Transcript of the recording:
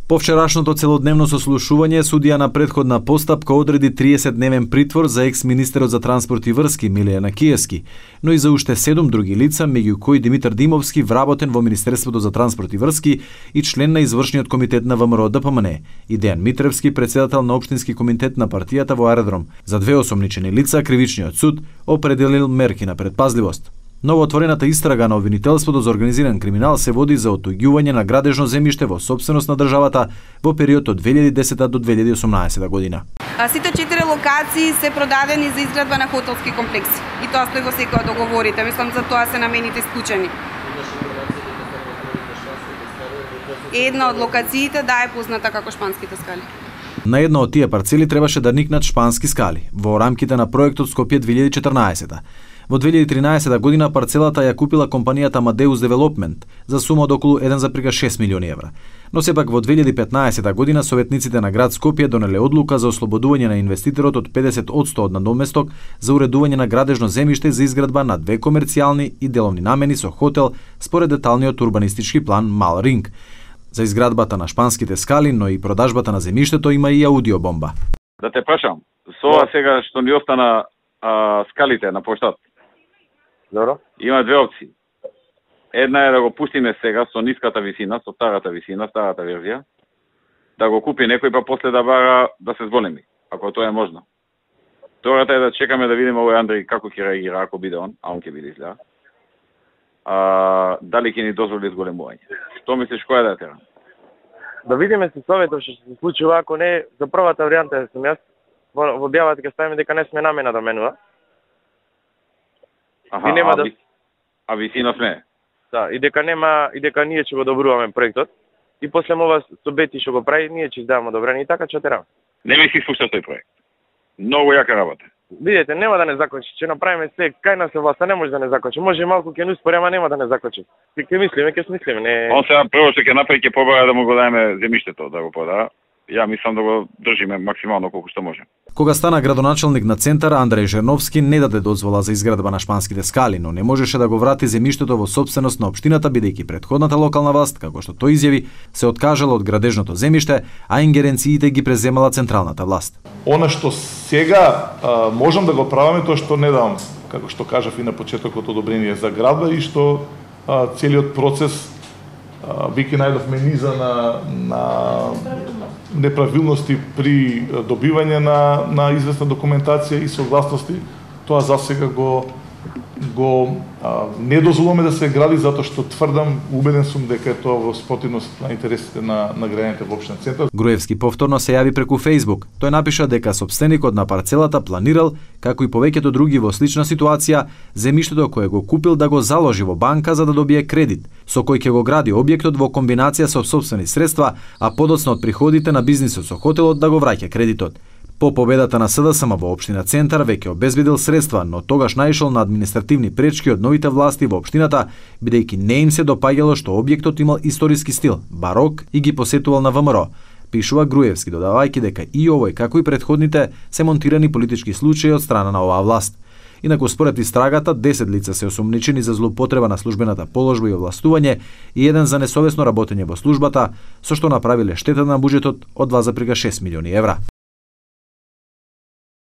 По вчерашното целодневно сослушување, судија на претходна постапка одреди 30-дневен притвор за екс-министерот за транспорт и врски Милијана Киевски, но и за уште 7 други лица, меѓу кои Димитар Димовски, вработен во Министерството за транспорт и врски и член на извршниот комитет на ВМРО ДПМН, и Дејан Митревски, председател на општински комитет на партијата во Аеродром. За две осомничени лица кривичниот суд определил мерки на предпазливост. Новоотворената истрага на обвинителството за организиран криминал се води за оттуѓување на градежно земјиште во собственост на државата во период од 2010 до 2018 година. Сите 4 локации се продадени за изградба на хотелски комплекси. И тоа стои во секој од договорите. Мислам за тоа се намените исклучени. Една од локациите е позната како Шпанските скали. На една од тие парцели требаше да никнат шпански скали во рамките на проектот Скопје 2014. Во 2013 година парцелата ја купила компанијата Amadeus Development за сума од околу 1,6 милиони евра. Но сепак во 2015 година советниците на град Скопје донеле одлука за ослободување на инвеститорот од 50% од надоместок за уредување на градежно земјиште за изградба на 2 комерцијални и деловни намени со хотел според деталниот урбанистички план Мал Ринг. За изградбата на шпанските скали, но и продажбата на земјиштето има и аудиобомба. Да те прашам, со ова сега што ни остана скалите на поштат. Добро. Има две опции. Една е да го пустиме сега со ниската висина, со старата висина, старата верзија, да го купи некој па после да бара да се зголеми, ако тоа е можно. Втората е да чекаме да видиме овој Андреј како ќе реагира ако биде он, а он ќе биде изгледа. Дали ќе ни дозволи зголемување. Што мислиш која да терам? Да видиме се советот што се случува, ако не за првата варијанта сум јас во објавата ќе ставиме дека не сме намена да менува. Аха, и нема да висина сме. Да, и дека ние ќе го добруваме проектот. И после ова со Бети што го прави, ние ќе издаваме одобрение и така ќе терам. Не ми си слуша тој проект. Многу јака работа. Видете, нема да не закочи. Ќе направиме се кај нас е власта, не може да не закочи. Може малку ќе ни успори, ама нема да не закочи. Ќе мислиме, ќе смислиме, не. Он сега прво што ќе направи ќе побара да му го даеме земјиштето да го прода. Ја мислам да го држиме максимално колку што може. Кога стана градоначелник на центар, Андреј Жерновски не даде дозвола за изградба на шпанските скали, но не можеше да го врати земјиштето во собственост на општината, бидејќи претходната локална власт, како што тој изјави, се откажала од градежното земјиште, а ингеренциите ги преземала централната власт. Она што сега можам да го правиме, тоа што не дам, како што кажав и на почетокот, одобрение за градба и што целиот процес веќе најдовме низа на неправилности при добивање на известна документација и согласности. Тоа засега го не дозволуваме да се гради затоа што тврдам, убеден сум дека е тоа во спротивност на интересите на граѓаните во општина Центар. Груевски повторно се јави преку Facebook. Тој напиша дека сопственикот на парцелата планирал, како и повеќето други во слична ситуација, земјиштето кое го купил да го заложи во банка за да добие кредит, со кој ќе го гради објектот во комбинација со сопствени средства, а подоцна од приходите на бизнисот со хотелот да го враќа кредитот. По победата на СДСМ во општина Центар веќе обезбедил средства, но тогаш наишол на административни пречки од новите власти во општината, бидејќи не им се допаѓало што објектот имал историски стил, барок и ги посетувал на ВМРО. Пишува Груевски, додавајќи дека и овој, како и претходните, се монтирани политички случаи од страна на оваа власт. Инаку според истрагата, 10 лица се осомничени за злоупотреба на службената положба и овластување и еден за несовесно работење во службата, со што направиле штета на буџетот од 2,6 милиони евра.